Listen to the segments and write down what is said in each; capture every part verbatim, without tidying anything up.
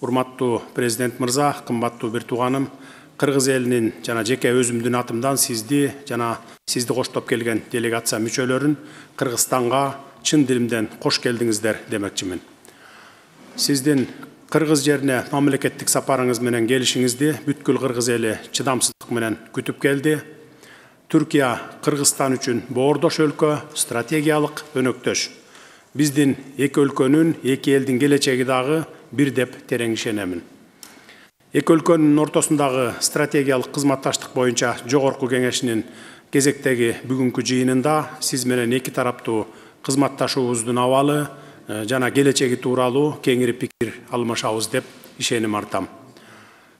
Урматтуу президент мырза, кымбаттуу бир тууганым, Кыргыз элинин жана жеке өзүмдүн атымдан сизди жана сизди коштоп келген делегация мүчөлөрүн Кыргызстанга чын дилимден кош келдиңиздер демекчимин. Сиздин Кыргыз жерине мамлекеттик сапарыңыз менен келишиңизди бүткүл Кыргыз эли чыдамсыздык менен күтүп келди. Түркия Кыргызстан үчүн боордош өлкө, стратегиялык өнөктөш. Биздин эки өлкөнүн, эки элдин келечеги дагы бир деп терең ишенемин. Эки өлкөнүн ортосундагы стратегиялык кызматташтык боюнча Жогорку кеңешинин кезектеги бүгүнкү жыйынында сиз менен эки тараптуу кызматташуубуздун абалы жана келечеги тууралуу кеңири пикир алмашабыз деп ишеним артам.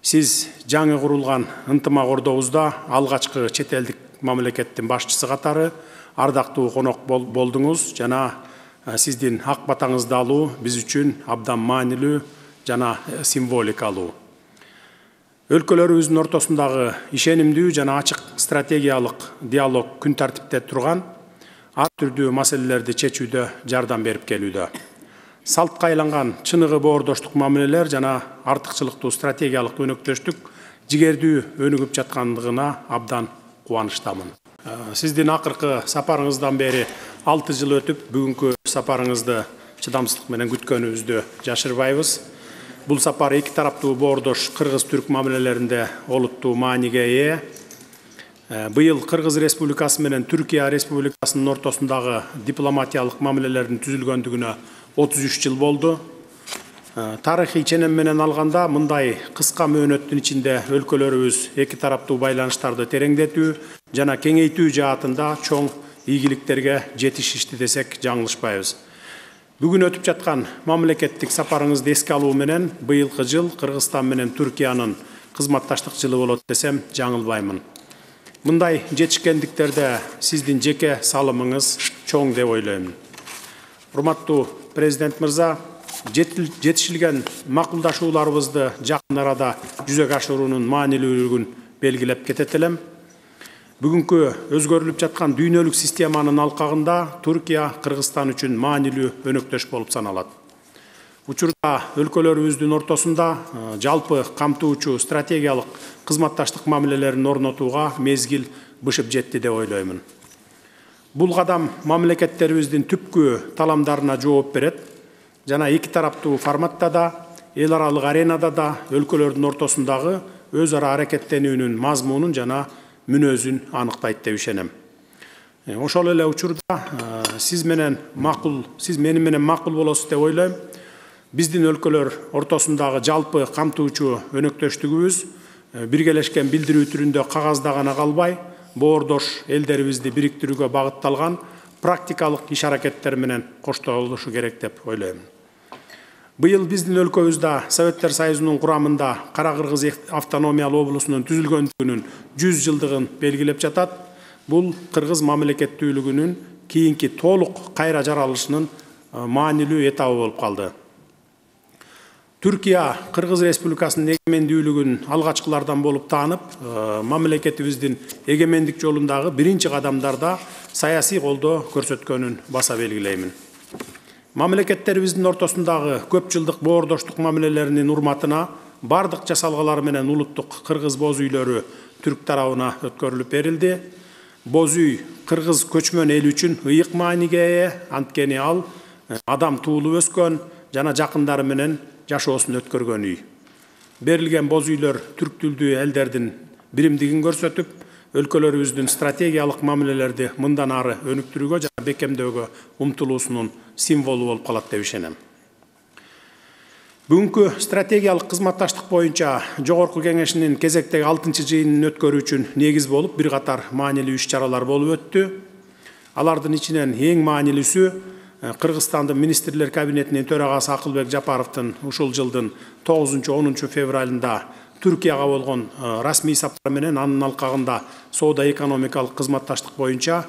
Сиз жаңы курулган ынтымак ордобузда алгачкы чет элдик мамлекеттин башчысы катары ардактуу конок болдуңуз жана сиздин ак батаңызды алуу биз үчүн абдан маанилүү жана символикалуу. Өлкөлөрүбүздүн ортосундагы ишенимдүү жана ачык стратегиялык диалог күн тартипте турган ар түрдүү маселелерди чечүүдө жардам берип келүүдө. Салтка айланган чыныгы боордоштук мамилелер жана артыкчылыктуу стратегиялык өнөктөштүк жигердүү өнүгүп жаткандыгына абдан кубанычтамын. Сиздин акыркы сапарыңыздан бери алты жыл өтүп, бүгүнкү сапарыңызды чыдамсыздык менен күткөнүбүздү жашырбайбыз. Бул сапар эки тараптуу боордош кыргыз-түрк мамилелеринде олуттуу мааниге ээ. Быйыл Кыргыз Республикасы менен Түркия Республикасынын ортосундагы дипломатиялык мамилелердин түзүлгөндүгүнө отуз үч жыл болду. Тарыхый ченем менен алганда мындай кыска мөөнөттүн ичинде өлкөлөрүбүз эки тараптуу байланыштарды тереңдетүү жана кеңейтүү жаатында чоң ийгиликтерге жетишишти десек жаңылышпайбыз. Бүгүн өтүп жаткан мамлекеттик сапарыңызды эске алуу менен быйылкы жыл Кыргызстан менен Түркиянын кызматташтык жылы болот десем жаңылбаймын. Мындай жетишкендиктерде сиздин жеке салымыңыз чоң деп ойлойм. Урматтуу президент мырза, жетишилген макулдашууларыбызды жакын арада жүзөгө ашыруунун маанилүүлүгүн белгилеп кетет элем. Бүгүнкү өзгөрүлүп жаткан дүйнөлүк системанын алкагында Түркия Кыргызстан үчүн маанилүү өнөктөш болуп саналат. Учурда өлкөлөрүбүздүн ортосунда жалпы камтуучу стратегиялык кызматташтык мамилелерин орнотууга мезгил бышып жетти деп ойлоймун. Бул кадам мамлекеттерибиздин түпкү таламдарына жооп берет жана эки тараптуу форматта да, эл аралык аренада да өлкөлөрдүн ортосундагы өз ара аракеттенүүнүн мазмунун жана мүнөзүн аныктайт деп ишенем. Ошол эле учурда сиз менен макул, сиз мени менен макул болосуз деп ойлойм. Биздин өлкөлөр ортосундагы жалпы камтуучу өнөктөштүгүбүз биргелешкен билдирүү түрүндө кагазда гана калбай, боордош элдерибизди бириктирүүгө багытталган практикалык иш аракеттер менен коштолушу керек деп ойлойм. Быйыл биздин өлкөбүздө Советтер Союзунун курамында Кара Кыргыз автономиялуу облусунун түзүлгөндүгүнүн жүз жылдыгын белгилеп жатат. Бул кыргыз мамлекеттүүлүгүнүн кийинки толук кайра жаралышынын маанилүү этабы болуп калды. Түркия Кыргыз Республикасынын эгемендүүлүгүн алгачкылардан болуп таанып, мамлекетибиздин эгемендик жолундагы биринчи кадамдарда саясий колдоо көрсөткөнүн баса белгилеймин. Мамлекеттерибиздин ортосундагы көп жылдык боордоштук мамилелеринин урматына бардык жасалгалар менен улуттук кыргыз боз үйлөрү түрк тарабына өткөрүлүп берилди. Боз үй кыргыз көчмөн эл үчүн ыйык мааниге ээ, анткени ал адам туулуп өскөн жана жакындары менен жашоосун өткөргөн үй. Берилген боз үйлөр түрк тилдүү элдердин биримдигин көрсөтүп, өлкөлөрүбүздүн стратегиялык мамилелерди мындан ары өнүктүрүүгө жана бекемдөөгө умтулуусунун символу болуп калат деп ишенем. Бүгүнкү стратегиялык кызматташтык боюнча Жогорку кеңешинин кезектеги алтынчы жыйынын өткөрүү үчүн негиз болуп бир катар маанилүү иш-чаралар болуп өттү. Алардын ичинен эң маанилүүсү Кыргызстандын министрлер кабинетинин төрагасы Акылбек Жапаровдун ушул жылдын тогузунчу онунчу февралында Түркияга болгон расмий сапар менен анын алкагында соода-экономикалык кызматташтык боюнча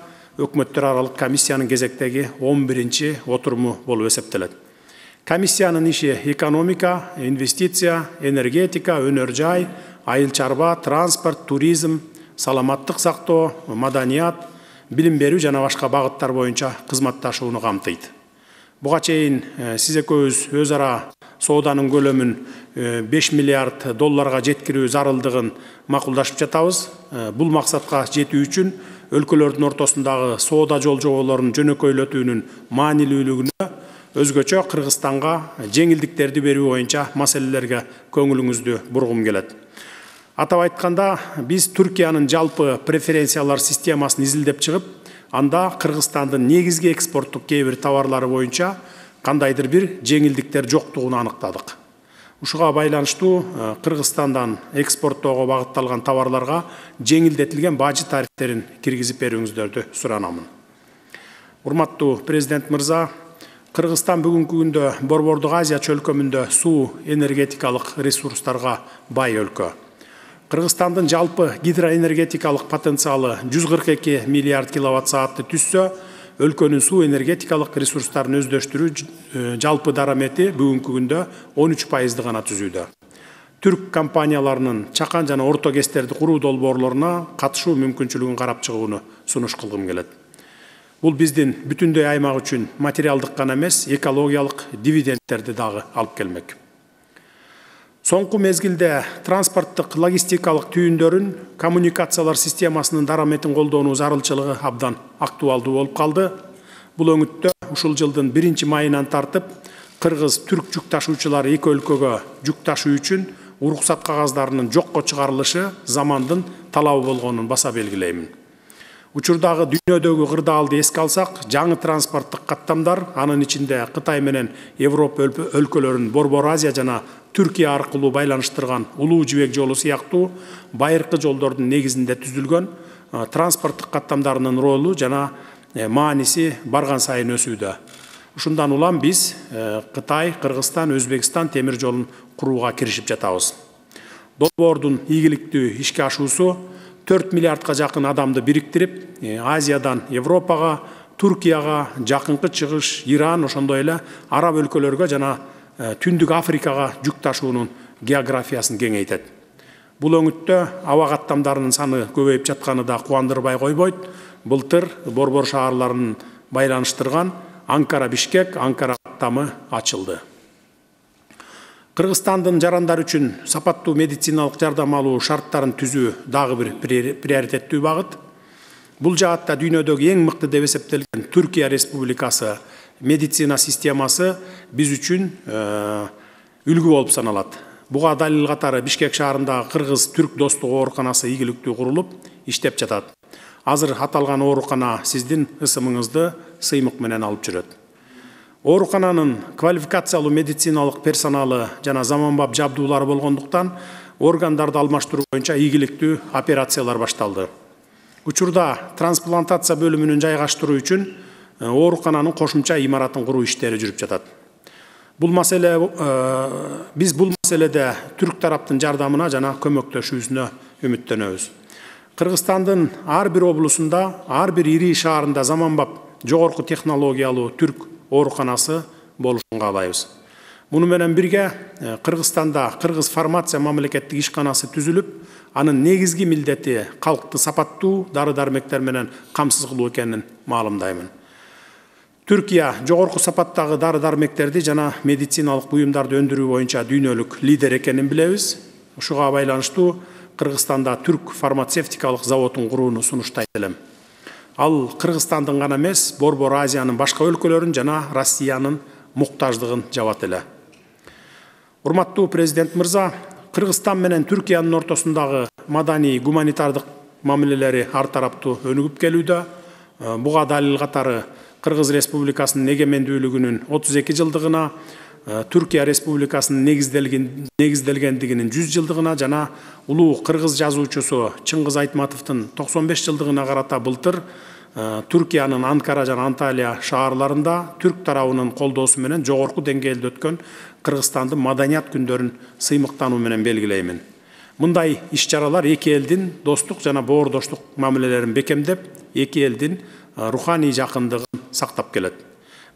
өкмөттөр аралык комиссиянын кезектеги он биринчи отуруму болуп эсептелет. Комиссиянын иши экономика, инвестиция, энергетика, өнөр жай, айыл чарба, транспорт, туризм, саламаттык сактоо, маданият, билим берүү жана башка багыттар боюнча кызматташууну камтыйт. Буга чейин сиз экөөбүз өз ара сооданын көлөмүн беш миллиард долларга жеткирүү зарылдыгын макулдашып жатабыз. Бул максатка жетүү үчүн өлкөлөрдүн ортосундагы соода жолжоболорун жөнөкөйлөтүүнүн маанилүүлүгүнө өзгөчө Кыргызстанга жеңилдиктерди берүү боюнча маселелерге көңүлүңүздү бургум келет. Атап айтканда, биз Түркиянын жалпы преференциялар системасын изилдеп чыгып, анда Кыргызстандын негизги экспорттук кээ бир товарлары боюнча кандайдыр бир жеңилдиктер жоктугун аныктадык. Ушуга байланыштуу Кыргызстандан экспорттоого багытталган товарларга жеңилдетилген бажы тарифтерин киргизип берүүңүздөрдү суранамын. Урматтуу президент мырза, Кыргызстан бүгүнкү күндө Борбордук Азия чөлкөмүндө суу энергетикалык ресурстарга бай өлкө. Кыргызстандын жалпы гидроэнергетикалык потенциалы жүз кырк эки миллиард киловатт саатты түзсө, өлкөнүн суу энергетикалык ресурстарын өздөштүрүү жалпы дарамети бүгүнкү күндө он үч пайызды гана түзүүдө. Түрк компанияларынын чакан жана орто кестерди куруу долбоорлоруна катышуу мүмкүнчүлүгүн карап чыгууну сунуш кылгым келет. Бул биздин бүтүндөй аймак үчүн материалдык гана эмес, экологиялык дивидендтерди дагы алып келмек. Соңку мезгилде транспорттук логистикалык түйүндөрүн коммуникациялар системасынын дараметин колдоонуу зарылчылыгы абдан актуалдуу болуп калды. Бул өңүттө ушул жылдын биринчи майынан тартып кыргыз-түрк жүк ташуучулары эки өлкөгө жүк ташуу үчүн уруксат кагаздарынын жокко чыгарылышы замандын талабы болгонун баса белгилеймин. Учурдагы дүйнөдөгү кырдаалды эске алсак, жаңы транспорттук каттамдар, анын ичинде Кытай менен Европа өлкөлөрүн Борбор Азия жана Түркия аркылуу байланыштырган улуу жибек жолу сыяктуу байыркы жолдордун негизинде түзүлгөн транспорттук каттамдарынын ролу жана мааниси барган сайын өсүүдө. Ушундан улам биз Кытай, Кыргызстан, Өзбекстан темир жолун курууга киришип жатабыз. Долбоордун ийгиликтүү ишке ашуусу төрт миллиардка жакын адамды бириктирип, Азиядан Европага, Түркияга, Жакынкы Чыгыш, Иран, ошондой эле араб өлкөлөргө жана Түндүк Африкага жүк ташуунун географиясын кеңейтет. Бул өңүттө аба каттамдарынын саны көбөйүп жатканы да кубандырбай койбойт. Былтыр борбор шаарларын байланыштырган Анкара-Бишкек, Анкара каттамы ачылды. Кыргызстандын жарандар үчүн сапаттуу медициналык жардам алуу шарттарын түзүү дагы бир приоритеттүү багыт. Бул жаатта дүйнөдөгү эң мыкты деп эсептелген Түркия Республикасы медицина системасы биз үчүн үлгү болуп саналат. Буга далил катары Бишкек шаарындагы Кыргыз-Түрк достук ооруканасы ийгиликтүү курулуп, иштеп жатат. Азыр аталган оорукана сиздин ысымыңызды сыймык менен алып жүрөт. Оорукананын квалификациялуу медициналык персоналы жана заманбап жабдуулары болгондуктан органдарды алмаштыруу боюнча ийгиликтүү операциялар башталды. Учурда трансплантация бөлүмүнүн жайгаштыруу үчүн оорукананын кошумча имаратын куруу иштери жүрүп жатат. Бул маселе биз бул маселеде түрк тараптын жардамына жана көмөктөшүүсүнө үмүттөнөбүз. Кыргызстандын ар бир облусунда, ар бир ири шаарында заманбап жогорку технологиялуу түрк ооруканасы болушун каалайбыз. Муну менен бирге Кыргызстанда Кыргыз фармация мамлекеттик ишканасы түзүлүп, анын негизги милдети калкты сапаттуу дары-дармектер менен камсыз кылуу экенин маалымдаймын. Түркия жогорку сапаттагы дары-дармектерди жана медициналык буюмдарды өндүрүү боюнча дүйнөлүк лидер экенин билебиз. Ушуга байланыштуу Кыргызстанда түрк фармацевтикалык заводун курууну сунуштайт элем. Ал Кыргызстандын гана эмес, Борбор Азиянын башка өлкөлөрүн жана Россиянын муктаждыгын жабат эле. Урматтуу президент мырза, Кыргызстан менен Түркиянын ортосундагы маданий гуманитардык мамилелери ар тараптуу өнүгүп келүүдө. Буга далил катары Кыргыз Республикасынын эгемендүүлүгүнүн отуз эки жылдыгына, Түркия Республикасынын негизделгендигинин жүз жылдыгына жана улуу кыргыз жазуучусу Чыңгыз Айтматовдун токсон беш жылдыгына карата былтыр Түркиянын Анкара жана Анталия шаарларында түрк тарабынын колдоосу менен жогорку деңгээлде өткөн Кыргызстандын маданият күндөрүн сыймыктануу менен белгилеймин. Мындай иш-чаралар эки элдин достук жана боордоштук мамилелерин бекемдеп, эки элдин руханий жакындыгын сактап келет.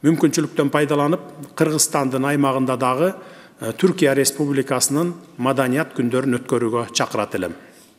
Мүмкүнчүлүктөн пайдаланып, Кыргызстандын аймагында дагы Түркия Республикасынын маданият күндөрүн өткөрүүгө чакырат элем.